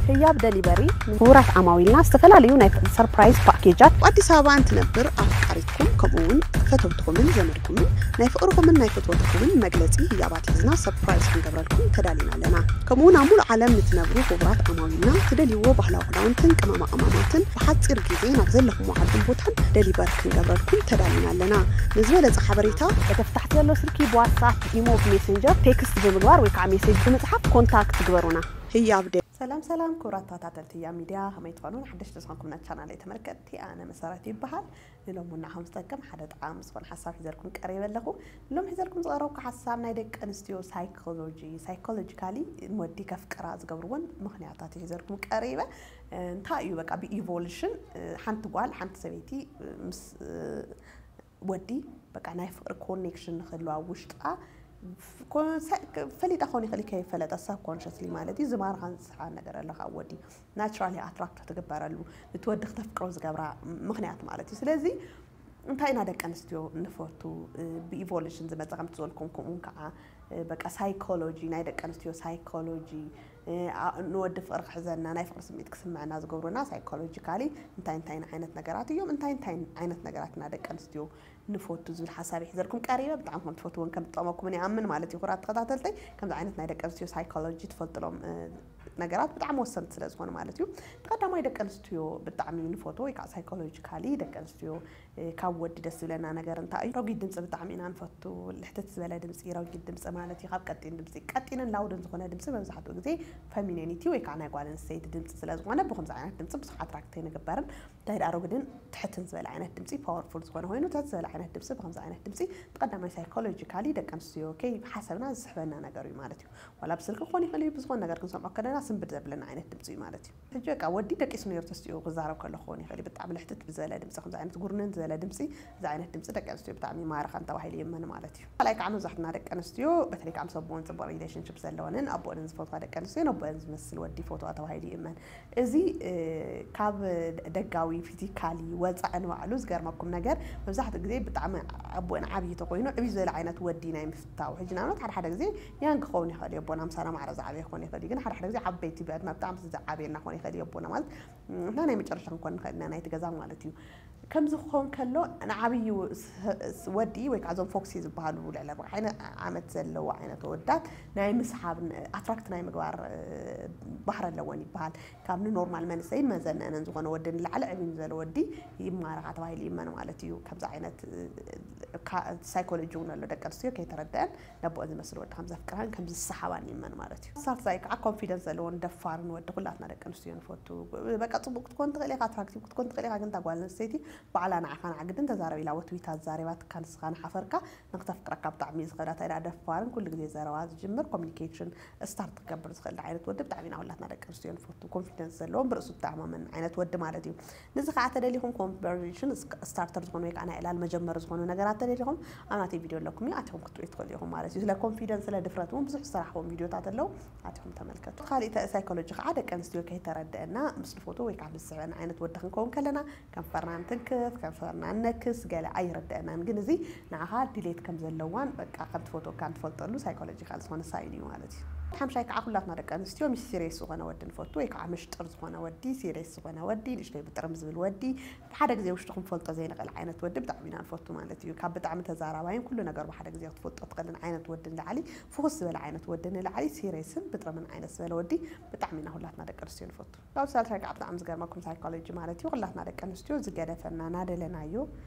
ህያብ ደሊቨሪ ንክቡራት ዓማዊልና ዝተፈላለዩ ናይ ሰርፕራይዝ ፓኬጃት። ኣብ ኣዲስ ኣበባ እንትነብር ኣፍቃሪትኩም ከምኡ እውን ፈተውትኹምን ዘመድኩምን ናይ ፍቕርኹምን ናይ ፈትወትኹምን መግለፂ ህያባት ሒዝና ሰርፕራይዝ ክንገብረልኩም ተዳሊና ኣለና። ከምኡ እውን ኣብ ሙሉእ ዓለም ንትነብሩ ክቡራት ዓማዊልና ትደልይዎ ባህላዊ ክዳውንትን ቅመማ ቅመማትን ብሓፂር ግዜ ናብ ዘለኹም ዓድን ቦታን ደሊቨር ክንገብረልኩም ተዳሊና ኣለና። ንዝበለፀ ሓበሬታ በተፍታሕቲ ዘሎ ስልኪ ብዋትሳፕ፣ ኢሞ፣ ብሜሴንጀር ቴክስት ብምግባር ወይ ከዓ ሜሴጅ ብምፅሓፍ ኮንታክት ግበሩና። ህያብ ደ ሰላም ሰላም ክቡራት ተኸታተልቲ ህያብ ሚድያ፣ ከመይ ትኾኑ? ሓደሽቲ ዝኾንኩም ናብ ቻናለይ ተመልከትቲ፣ ኣነ መሰረት ይበሃል። ንሎሚ እውን ንዓኹም ዝጠቅም ሓደ ጠቓሚ ዝኾነ ሓሳብ ሒዘልኩም ቀሪበ ኣለኹ። ንሎም ሒዘልኩም ዝቐረብኩ ሓሳብ ናይ ደቂ ኣንስትዮ ሳይኮሎጂ፣ ሳይኮሎጂካሊ ንወዲ ከፍቅራ ዝገብርዎን ምኽንያታት እዩ ሒዘልኩም ቀሪበ። እ፣ እንታይ እዩ በቃ ብኢቮሉሽን፣ እ፣ ሓንቲ ጓል ሓንቲ ሰበይቲ፣ እ፣ ምስ እ፣ ወዲ በቃ ናይ ፍቕሪ ኮኔክሽን ንክህልዋ ውሽጣ ፈሊጣ ክኾን ይኽእል፣ ከይፈለጠ ሳብኮንሽስሊ ማለት እዩ። ዝማርኻን ዝስሕባን ነገር ኣሎ ካብ ወዲ ናቹራሊ ኣትራክት ትግበረሉ፣ እቲ ወዲ ክተፍቅሮ ዝገብራ ምኽንያት ማለት እዩ። ስለዚ እንታይ ኢና ደቂ ኣንስትዮ ንፈቱ? ብኢቮሉሽን ዝመፀ ከምቲ ዝበልኩም፣ ከምኡውን ከዓ በቃ ሳይኮሎጂ፣ ናይ ደቂ ኣንስትዮ ሳይኮሎጂ፣ ንወዲ ፍቕሪ ክሕዘና፣ ናይ ፍቕሪ ስምዒት ክስምዐና ዝገብሩና ሳይኮሎጂካሊ እንታይ እንታይ ዓይነት ነገራት እዮም፣ እንታይ እንታይ ዓይነት ነገራት ኢና ደቂ ኣንስትዮ ንፈቱ ዝብል ሓሳብ ይሕዘልኩም ቀሪበ። ብጣዕሚ ከም ትፈትዎን ከም ትጠቕመኩምን ይኣምን ማለት እዩ። ኩራት ተኸታተልተይ፣ ከምዚ ዓይነት ናይ ደቂ ኣንስትዮ ሳይኮሎጂ ትፈልጥሎም ነገራት ብጣዕሚ ወሰንቲ ስለ ዝኾኑ ማለት እዩ። ቀዳማይ ደቂ ኣንስትዮ ብጣዕሚ ንፈትዎ ወይ ከዓ ሳይኮሎጂካሊ ደቂ ኣንስትዮ ካብ ወዲ ደስ ዝብለና ነገር እንታይ እዩ? ረጒድ ድምፂ ብጣዕሚ ኢና ንፈቱ። ልሕትት ዝበለ ድምፂ፣ ረጒድ ድምፂ ማለት እዩ። ካብ ቀጢን ድምፂ፣ ቀጢንን ላውድን ዝኾነ ድምፂ መብዛሕትኡ ግዜ ፌሚኒኒቲ ወይ ከዓ ናይ ጓል ኣንስተይቲ ድምፂ ስለ ዝኾነ ብከምዚ ዓይነት ድምፂ ብዙሕ ኣትራክት ኣይንግበርን። እንታይ ደኣ ረጒድን ትሕትን ዝበለ ዓይነት ድምፂ ፓወርፉል ዝኾነ ኮይኑ፣ ትሕት ዝበለ ዓይነት ድምፂ ብከምዚ ዓይነት ድምፂ ብቀዳማይ ሳይኮሎጂካሊ ደቂ ኣንስትዮ ከይሓሰብና ዝስሕበና ነገር እዩ ማለት እዩ። ዋላ ብስልኪ ክኾን ይኽእል እዩ፣ ብዝኾነ ነገር ክንሰምዖ ከለና ስንብድ ዘብለና ዓይነት ድምፂ እዩ ማለት እዩ። ሕጂ በቃ ወዲ ደቂሱ ነይሩ ተስቲኡ ክዛረብ ከሎ ክኸውን ይኽእል እዩ። ብጣዕሚ ልሕትት ብዝበለ ድምፂ፣ ከምዚ ዓይነት ጉርንን ዝበለ ድምፂ፣ እዚ ዓይነት ድምፂ ደቂ ኣንስትዮ ብጣዕሚ ይማርኸን ተባሂሉ ይእመን ማለት እዩ። ካልኣይ ከዓ መብዛሕትና ደቂ ኣንስትዮ በተለይ ከዓ ምስ ኣቦን ፅቡቅ ሪሌሽንሽፕ ዘለወንን ኣቦንን ዝፈትዋ ደቂ ኣንስትዮ ነቦን ዝመስል ወዲ ይፈትዋ ተባሂሉ ይእመን። እዚ ካብ ደጋዊ ፊዚካሊ ወፃኢ ንባዕሉ ዝገርመኩም ነገር መብዛሕትኡ ግዜ ብጣዕሚ ኣቦን ዓብዪ ተኮይኑ ዕብይ ዝበለ ዓይነት ወዲ ናይ ምፍታው። ሕጂ ንኣብነት ሓደ ሓደ ግዜ ያንግ ክኸውን ይኽእል እዩ፣ ኣቦና ምሳና ማዕረ ዝዓበየ ክኸውን ይኽእል እዩ። ግን ሓደ ሓደ ግዜ ዓበይቲ ብዕድመ ብጣዕሚ ዝዓበየና ክኸውን ይኽእል እዩ ኣቦና ማለት እና ናይ መጨረሻ ክንኮን ንኽእል ኢና ናይቲ ገዛ ማለት እዩ። ከምዚ ክኸውን ከሎ ንዓብዩ ወዲ ወይ ከዓ እዞም ፎክሲ ዝበሃሉ ልዕሊ ኣርባዕተ ዓመት ዘለዎ ዓይነት ወዳት ናይ ምስሓብ ኣትራክት ናይ ምግባር ባህሪ ኣለወን ይበሃል። ካብ ንኖርማል መንሰይን መዘነነን ዝኾነ ወዲ ንላዕሊ ዕብይ ንዘለ ወዲ ይማረኻ ተባሂሉ ይመን ማለት እዩ። ከምዚ ዓይነት ሳይኮሎጂ እውን ኣሎ። ደቂ ኣንስትዮ ከይተረደአን ነቦአን ዝመስል ወዲ ከም ዘፍቅራን ከም ዝሰሓባን ይመን ማለት እዩ። ሳልሳይ ከዓ ኮንፊደንስ ዘለዎን ደፋርን ወዲ ኩላትና ደቂ ኣንስትዮ ንፈቱ። በቃ ፅቡቅ ክትኮን ትኽእል ኢኻ፣ ኣትራክቲቭ ክትኮን ትኽእል ኢኻ፣ ግን እታ ጓል ኣንስተይቲ ባዕላ ንዓኻ ንዓግድን ተዛረብ ኢላ ወትዊታ ዛሪባትካ ንስኻ ንሓፈርካ ንክተፍቅረካ ብጣዕሚ እዩ ዝኽእላ። እንታይ ደኣ ደፋርን ኩሉ ግዜ ዘረባ ዝጅምር ኮሚኒኬሽን ስታርት ክገብር ዝኽእል ዓይነት ወዲ ብጣዕሚ ኢና ኩላትና ደቂ ኣንስትዮ ንፈቱ። ኮንፊደንስ ዘለዎን ብርእሱ ዝተኣማመን ዓይነት ወዲ ማለት እዩ። ንዚ ከዓ ተደሊኹም ኮንቨርሴሽን ስታርተር ዝኾኑ ወይ ከዓ ናይ ዕላል መጀመሪ ዝኾኑ ነገራት ተደሊኹም ኣብ ናተይ ቪድዮ ኣለኩም እዩ ኣቲኹም ክትሪኡ ትኽእሉ ኢኹም ማለት እዩ። ስለ ኮንፊደንስ ስለ ድፍረት እውን ብዙሕ ዝሰራሕዎም ቪድዮታት ኣለዉ ኣቲኹም ተመልከቱ። ካሊእ ሳይኮሎጂ ከዓ ደቂ ኣንስትዮ ከይተረደአና ምስ ንፈትዎ ወይ ከዓ ምስ ዝስሕበና ዓይነት ወዲ ክንከውን ከለና ከንፈርና እንትንክፍ ከንፈርና ነክስ ገለ ኣይርደአናን። ግን እዚ ንዓኻ ድሌት ከም ዘለዋን በቃ ከም ትፈትወካን ትፈልጠሉ ሳይኮሎጂካል ዝኾነ ሳይን እዩ ማለት እዩ። ሓምሻይ ከዓ ኩላትና ደቂ ኣንስትዮ ምስ ሲሪየስ ዝኾነ ወዲ ንፈቱ ወይ ከዓ ምሽጥር ዝኾነ ወዲ፣ ሲሪየስ ዝኾነ ወዲ፣ ንእሽተይ ብጥርም ዝብል ወዲ፣ ሓደ ግዜ ውሽጡ ክንፈልጦ ዘይንኽእል ዓይነት ወዲ ብጣዕሚ ኢና ንፈቱ ማለት እዩ። ካብ ብጣዕሚ ተዛራባይን ኩሉ ነገር ብሓደ ግዜ ክትፈልጦ ትኽእልን ዓይነት ወዲ ንላዕሊ፣ ፍኹስ ዝበለ ዓይነት ወዲ ንላዕሊ፣ ሲሪየስን ብጥርምን ዓይነት ዝበለ ወዲ ብጣዕሚ ኢና ኩላትና ደቂ ኣንስትዮ ንፈቱ። ካብ ሳልሳይ ከዓ ብጣዕሚ ዝገርመኩም ሳይኮሎጂ ማለት እዩ። ኩላትና ደቂ ኣንስትዮ ዝገደፈና ናደለናዮ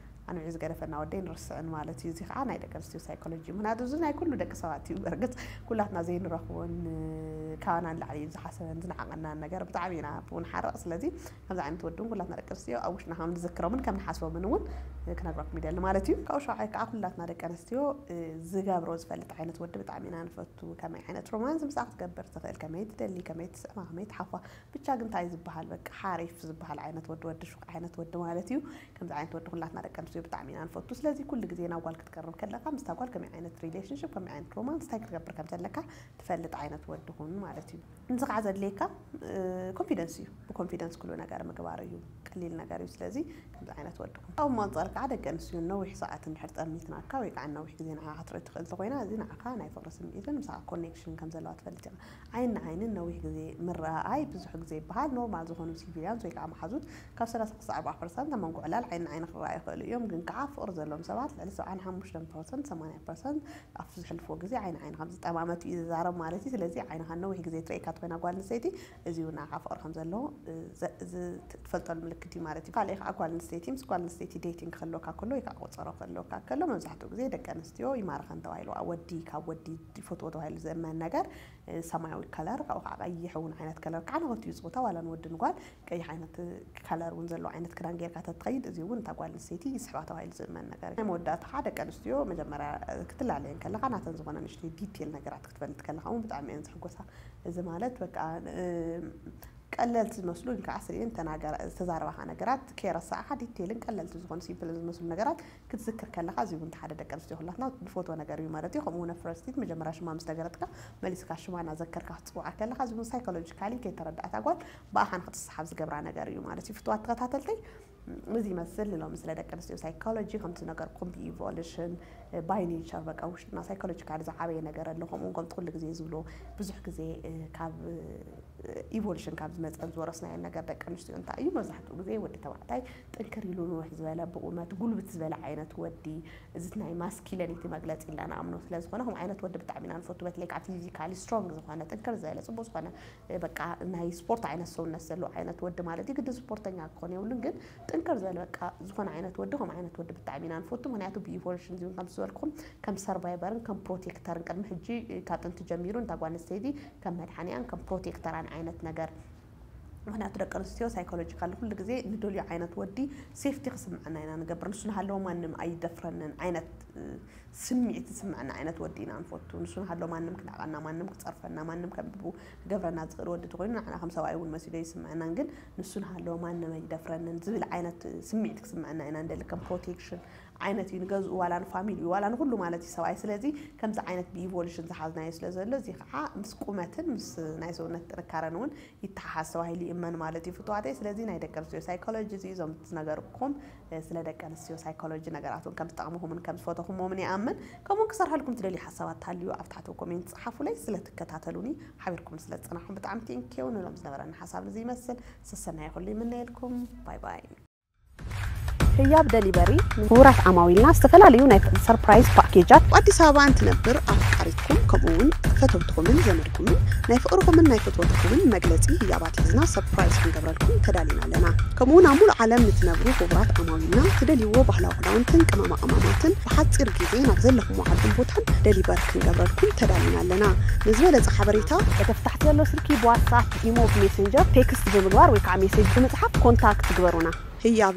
ኣንብዒ ዝገደፈና ወደይ ንርስዕን ማለት እዩ። እዚ ከዓ ናይ ደቂ ኣንስትዮ ሳይኮሎጂ እዩ። ምክንያቱ እዚ ናይ ኩሉ ደቂ ሰባት እዩ። በርግፅ ኩላትና ዘይንረኽቦን ካባና ንላዕሊ ዝሓሰበን ዝነዓቐናን ነገር ብጣዕሚ ኢና ብኡ ንሓርቕ። ስለዚ ከምዚ ዓይነት ወዲ እውን ኩላትና ደቂ ኣንስትዮ ኣብ ውሽጥና ከም ንዝክሮምን ከም ንሓስቦምን እውን ክነግረኩም ይደሊ ማለት እዩ። ካብኡ ሻውዓይ ከዓ ኩላትና ደቂ ኣንስትዮ ዝገብሮ ዝፈልጥ ዓይነት ወዲ ብጣዕሚ ኢና ንፈቱ። ከመይ ዓይነት ሮማንስ ምስኣ ክትገብር ትኽእል፣ ከመይ ትደሊ፣ ከመይ ትስዕማ፣ ከመይ ትሓፋ፣ ብቻ ግን እንታይ ዝበሃል በቃ ሓሪፍ ዝበሃል ዓይነት ወዲ፣ ወዲ ሹቕ ዓይነት ወዲ ማለት እዩ። ከምዚ ዓይነት ወዲ ኩላትና ደቂ ኣንስትዮ ብጣዕሚ ኢና ንፈቱ። ስለዚ ኩሉ ግዜ ናብ ጓል ክትቀርብ ከለኻ ምስታ ጓል ከመይ ዓይነት ሪሌሽንሽፕ፣ ከመይ ዓይነት ሮማንስ፣ እንታይ ክትገብር ከም ዘለካ ትፈልጥ ዓይነት ወዲ ኩን ማለት እዩ። እዚ ከዓ ዘድልየካ ኮንፊደንስ እዩ። ብኮንፊደንስ ኩሉ ነገር ምግባር እዩ። ቀሊል ነገር እዩ። ስለዚ ከምዚ ዓይነት ወዲ ኩን። ካብኡ ኣንፃር ከዓ ደቂ ኣንስትዮ ነዊሕ ሰዓት እንድሕር ጠሚትናካ ወይ ከዓ ነዊሕ ግዜ ንዓኻ ክትርኢ ትኽእል እንተኾይና፣ እዚ ንዓኻ ናይ ፍቕሪ ስምዒትን ምሳኻ ኮኔክሽን ከም ዘለዋ ትፈልጥ ኢኻ። ዓይኒ ንዓይንን ነዊሕ ግዜ ምረኣኣይ ብዙሕ ግዜ ይበሃል። ኖርማል ዝኾኑ ሲቪሊያንስ ወይ ከዓ መሓዙት ካብ ሰላሳ ክሳዕ ኣርባዓ ፐርሰንት ኣብ መንጎ ዕላል ዓይኒ ንዓይኒ ክረኣዩ ይኽእሉ እዮም። ግን ከዓ ፍቕሪ ዘለዎም ሰባት ልዕሊ ሰብዓን ሓሙሽተን ፐርሰንት፣ ሰማንያ ፐርሰንት ኣብቲ ዝሕልፍዎ ግዜ ዓይኒ ዓይኒ ከም ዝጠማመቱ እዩ ዝዛረብ ማለት እዩ። ስለዚ ዓይንኻ ነዊሕ ግዜ ትርእየካ እንተኾይና ጓል ኣንስተይቲ፣ እዚ እውን ንዓኻ ፍቕሪ ከም ዘለዎ፣ እ፣ ዘ-፣ ዝ-፣ ትፈልጠሉ ምልክት እዩ ማለት እዩ። ካልእ ከዓ ጓል ኣንስተይቲ ምስ ጓል ኣንስተይቲ ዴቲንግ ክህልወካ ከሎ ወይ ከዓ ቆፀሮ ክህልወካ ከሎ መብዛሕትኡ ግዜ ደቂ ኣንስትዮ ይማርኸን ተባሂሉ፣ ወዲ ካብ ወዲ ይፈትዎ ተባሂሉ ዝእመን ነገር፣ እ፣ ሰማያዊ ከለር፣ ካብኡ ከዓ ቀይሕ እውን ዓይነት ከለር፣ ከዓ ንኽልቲኡ ፆታ ዋላ ንወዲ ንጓል ቀይሕ ዓይነት ከለር እውን ዘለዎ ዓይነት ክዳን ጌርካ ተትኸይድ፣ እዚ እውን እታ ጓል ኣንስተይቲ ይስሕባ ተባሂሉ ዝእመን ነገር እዩ። ናይ መወዳእታ ከዓ ደቂ ኣንስትዮ መጀመርያ፣ እ፣ ክትላለየን ከለኻ ናተን ዝኾነ ንእሽተይ ዲቴል ነገራት ክትፈልጥ ከለኻ እውን ብጣዕሚ እየን ዝሕጎሳ። እዚ ማለት በቃ፣ እ፣ ቀለልቲ ዝመስሉ ኢልካ ኣስሪኤን ተናገራ-፣ ዝተዛረባኻ ነገራት ከይረሳዕኻ ዲቴልን ቀለልቲ ዝኾኑ ሲምፕልን ዝመስሉ ነገራት ክትዝክር ከለኻ፣ እዚ እውን ሓደ ደቂ ኣንስትዮ ኩላትና ንፈትዎ ነገር እዩ ማለት እዩ። ከምኡ እውን ፈርስቲት መጀመርያ ሽማ ምስ ነገረትካ መሊስካ ሽማ እናዘከርካ ክትፅውዓ ከለኻ፣ እዚ እውን ሳይኮሎጂካሊ ከይተረድኣታ ጓል ብኣኻ ንክትሰሓብ ዝገብራ ነገር እዩ ማለት እዩ። ፍትዋት ተኸታተልተይ፣ እዚ ይመስል ንሎሚ ስለ ደቂ ኣንስትዮ ሳይኮሎጂ። ከምቲ ዝነገርኩም ብኢቮሉሽን፣ ባይ ኔቸር፣ በቃ ውሽጥና ሳይኮሎጂካሊ ዝዓበየ ነገር ኣሎ። ከምኡ እውን ከምቲ ኩሉ ግዜ ዝብሎ ብዙሕ ግዜ፣ እ፣ ካብ፣ እ፣ ኢቮሉሽን ካብ ዝመፀን ዝወረስናዮ ነገር ደቂ ኣንስትዮ እንታይ እዩ? መብዛሕትኡ ግዜ ወዲ ተባዕታይ ጥንክር ኢሉ ንውሕ ዝበለ ብቑመት ጉልብት ዝበለ ዓይነት ወዲ፣ እዚ ናይ ማስኪለኒቲ መግለፂ ኢልና ንኣምኖ ስለ ዝኾነ፣ ከምኡ ዓይነት ወዲ ብጣዕሚ ኢና ንፈቱ። በተለይ ከዓ ፊዚካሊ ስትሮንግ ዝኾነ፣ ጥንክር ዝበለ፣ ፅቡቅ ዝኾነ፣ እ፣ በቃ ናይ ስፖርት ዓይነት ሰውነት ዘለዎ ዓይነት ወዲ ማለት እዩ። ግድን ስፖርተኛ ክኾን የብሉን፣ ግን ጥንክር ዝበለ በቃ ዝኾነ ዓይነት ወዲ፣ ከምኡ ዓይነት ወዲ ብጣዕሚ ኢና ንፈቱ። ምክንያቱ ብኢቮሉሽን እዚ እውን ከም ዝበልኩም ከም ሰርቫይቨርን ከም ፕሮቴክተርን ቅድሚ ሕጂ፣ እ፣ ካብ ጥንቲ ጀሚሩ ንታ ጓል ኣንስተይቲ ከም መድሓኒኣን ከም ፕሮቴክተራን ዓይነት ነገር። ምክንያቱ ደቂ ኣንስትዮ ሳይኮሎጂካሊ ኩሉ ግዜ ንደልዮ ዓይነት ወዲ ሴፍቲ ክስምዐና ኢና ንገብር። ንሱ ንሃለዎ ማንም ኣይደፍረንን ዓይነት፣ እ፣ ስምዒት ዝስምዐና ዓይነት ወዲ ኢና ንፈቱ። ንሱ ንሃሎ ማንም ክነዕቐና፣ ማንም ክፀርፈና፣ ማንም ከቢቡ ክገብረና ዝኽእል ወዲ ተኾይኑ ንዓና ከም ሰብኣይ እውን መሲሉ ኣይስምዐናን። ግን ንሱ ንሃሎ ማንም ኣይደፍረንን ዝብል ዓይነት ስምዒት ክስምዐና ኢና ንደሊ። ከም ፕሮቴክሽን ዓይነት እዩ ንገዝኡ፣ ዋላ ንፋሚሊኡ፣ ዋላ ንኩሉ ማለት እዩ ሰብኣይ። ስለዚ ከምዚ ዓይነት ብኢቮሉሽን ዝሓዝናዮ ስለ ዘሎ፣ እዚ ከዓ ምስ ቁመትን ምስ ናይ ሰውነት ጥንካረን እውን ይተሓሓዝ ተባሂሉ ይእመን ማለት እዩ ፍትዋተይ። ስለዚ ናይ ደቂ ኣንስትዮ ሳይኮሎጂ እዚ እዞም ዝነገርኩም፣ እ፣ ስለ ደቂ ኣንስትዮ ሳይኮሎጂ ነገራት እውን ከም ዝጠቕምኹምን ከም ዝፈተኹሞምን ይኣምን። ከምኡውን ክሰርሐልኩም ትደልዩ ሓሳባት ተሃልዩ ኣብ ታሕቲ ኮሜንት ጸሓፉለይ። ስለ ትከታተሉኒ ሓቢርኩም ስለ ዝጸናሕኩም ብጣዕሚ ቴንኪው። ንሎም ዝነበረኒ ሓሳብ እዚ ይመስል። ሰሰናይ ኩሉ ይምነየልኩም። ባይ ባይ። ህያብ ደሊቨሪ ንክቡራት ዓማዊልና ዝተፈላለዩ ናይ ሰርፕራይዝ ፓኬጃት። ኣብ ኣዲስ ኣበባ እንትነብር ኣፍቃሪትኩም ከምኡ እውን ፈተውትኹምን ዘመድኩምን ናይ ፍቕርኹምን ናይ ፍትወትኩምን መግለጺ ህያባት ሒዝና ሰርፕራይዝ ክንገብረልኩም ተዳሊና ኣለና። ከምኡ እውን ኣብ ሙሉእ ዓለም ንትነብሩ ክቡራት ዓማዊልና ትደልይዎ ባህላዊ ክዳውንትን ቅመማ ቅመማትን ብሓጺር ግዜ ናብ ዘለኹምዎ ዓድን ቦታን ደሊቨር ክንገብረልኩም ተዳሊና ኣለና። ንዝበለጸ ሓበሬታ በተፍታሕቲ ዘሎ ስልኪ ብዋትሳፕ፣ ኢሞ፣ ብሜሴንጀር ቴክስት ብምግባር ወይ ከዓ ሜሴጅ ብምጽሓፍ ኮንታክት ግበሩና። ህያብ